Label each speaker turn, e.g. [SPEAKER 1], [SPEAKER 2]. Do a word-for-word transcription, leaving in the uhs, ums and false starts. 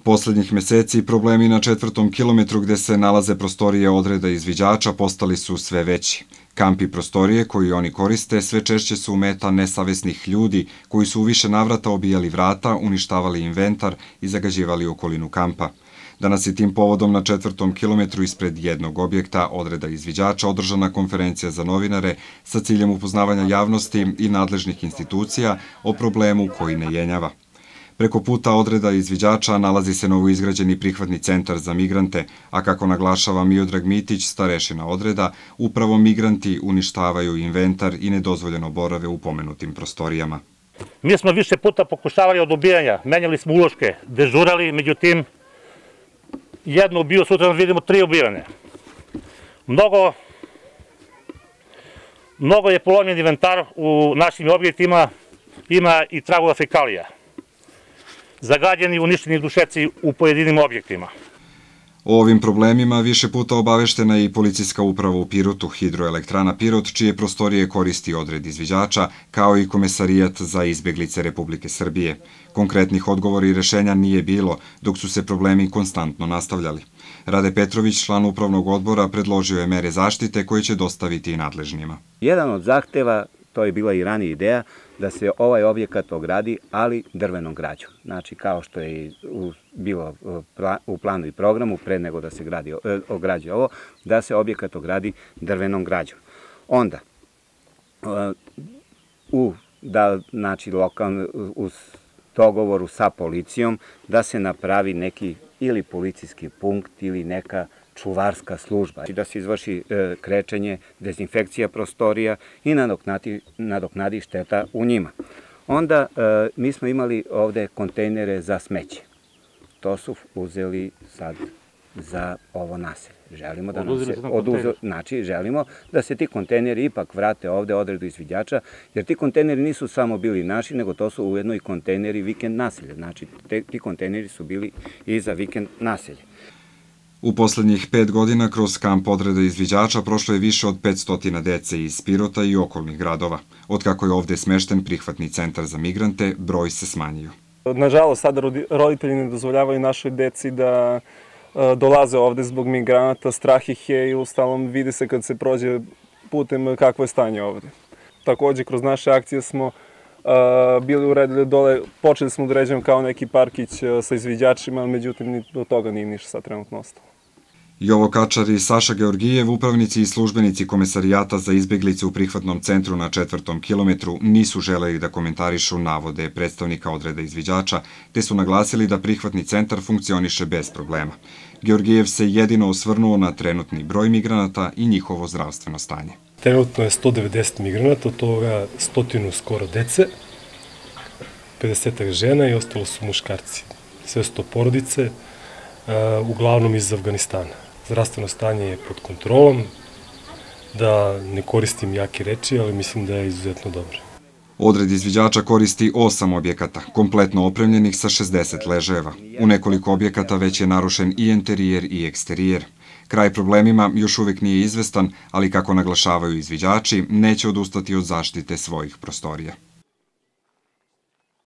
[SPEAKER 1] Poslednjih meseci problemi na četvrtom kilometru gde se nalaze prostorije odreda izviđača postali su sve veći. Kampi prostorije koji oni koriste sve češće su meta nesavesnih ljudi koji su u više navrata obijali vrata, uništavali inventar i zagađivali okolinu kampa. Danas je tim povodom na četvrtom kilometru ispred jednog objekta odreda izviđača održana konferencija za novinare sa ciljem upoznavanja javnosti i nadležnih institucija o problemu koji ne jenjava. Preko puta odreda izviđača nalazi se novoizgrađeni prihvatni centar za migrante, a kako naglašava Miodrag Mitić, starešina odreda, upravo migranti uništavaju inventar i nedozvoljeno borave u pomenutim prostorijama.
[SPEAKER 2] Mi smo više puta pokušavali od ubijanja, menjali smo uloške, dežurali, međutim, jedno ubio, sutra vidimo tri ubijane. Mnogo, mnogo je polomljen inventar u našim objektima, ima i tragova fekalija. Zagađeni i uništeni dušeci u pojedinim objektima.
[SPEAKER 1] O ovim problemima više puta obaveštena je i policijska uprava u Pirotu, Hidroelektrana Pirot, čije prostorije koristi odred izviđača, kao i Komesarijat za izbeglice Republike Srbije. Konkretnih odgovora i rešenja nije bilo, dok su se problemi konstantno nastavljali. Rade Petrović, član upravnog odbora, predložio je mere zaštite koje će dostaviti i nadležnjima.
[SPEAKER 3] Jedan od zahteva, to je bila i ranija ideja, da se ovaj objekat ogradi, ali drvenom građom. Znači, kao što je bilo u planu i programu, pre nego da se ograđe ovo, da se objekat ogradi drvenom građom. Onda, u dogovoru sa policijom, da se napravi neki ili policijski punkt ili neka čuvarska služba, da se izvrši krečenje, dezinfekcija prostorija i nadoknadi šteta u njima. Onda mi smo imali ovde kontejnere za smeće. To su uzeli sad za ovo naselje. Želimo da nam se oduzeli, znači želimo da se ti kontejneri ipak vrate ovde odredu izviđača, jer ti kontejneri nisu samo bili naši, nego to su ujedno i kontejneri vikend naselja. Znači ti kontejneri su bili i za vikend naselje.
[SPEAKER 1] U poslednjih pet godina kroz kamp odreda izviđača prošlo je više od petsto dece iz Pirota i okolnih gradova. Otkako je ovde smešten prihvatni centar za migrante, broj se smanjio.
[SPEAKER 4] Nažalost, sada roditelji ne dozvoljavaju našoj deci da dolaze ovde zbog migranata, strah ih je i ustalom vidi se kad se prođe putem kakvo je stanje ovde. Takođe, kroz naše akcije smo bili uredili dole, počeli smo da uređujemo kao neki parkić sa izviđačima, ali međutim do toga nije ništa sad trenutno ostalo.
[SPEAKER 1] Jovo Kačar i Saša Georgijev, upravnici i službenici Komesarijata za izbeglice u prihvatnom centru na četvrtom kilometru, nisu želeli da komentarišu navode predstavnika odreda izviđača, te su naglasili da prihvatni centar funkcioniše bez problema. Georgijev se jedino osvrnuo na trenutni broj migranata i njihovo zdravstveno stanje.
[SPEAKER 5] Trenutno je sto devedeset migranata, od toga stotinu skoro dece, pedeset žena i ostalo su muškarci. Sve su to porodice, uglavnom iz Afganistana. Zdravstveno stanje je pod kontrolom, da ne koristim jake reči, ali mislim da je izuzetno dobro.
[SPEAKER 1] Odred izviđača koristi osam objekata, kompletno opremljenih sa šezdeset ležajeva. U nekoliko objekata već je narušen i interijer i eksterijer. Kraj problemima još uvek nije izvestan, ali kako naglašavaju izviđači, neće odustati od zaštite svojih prostorija.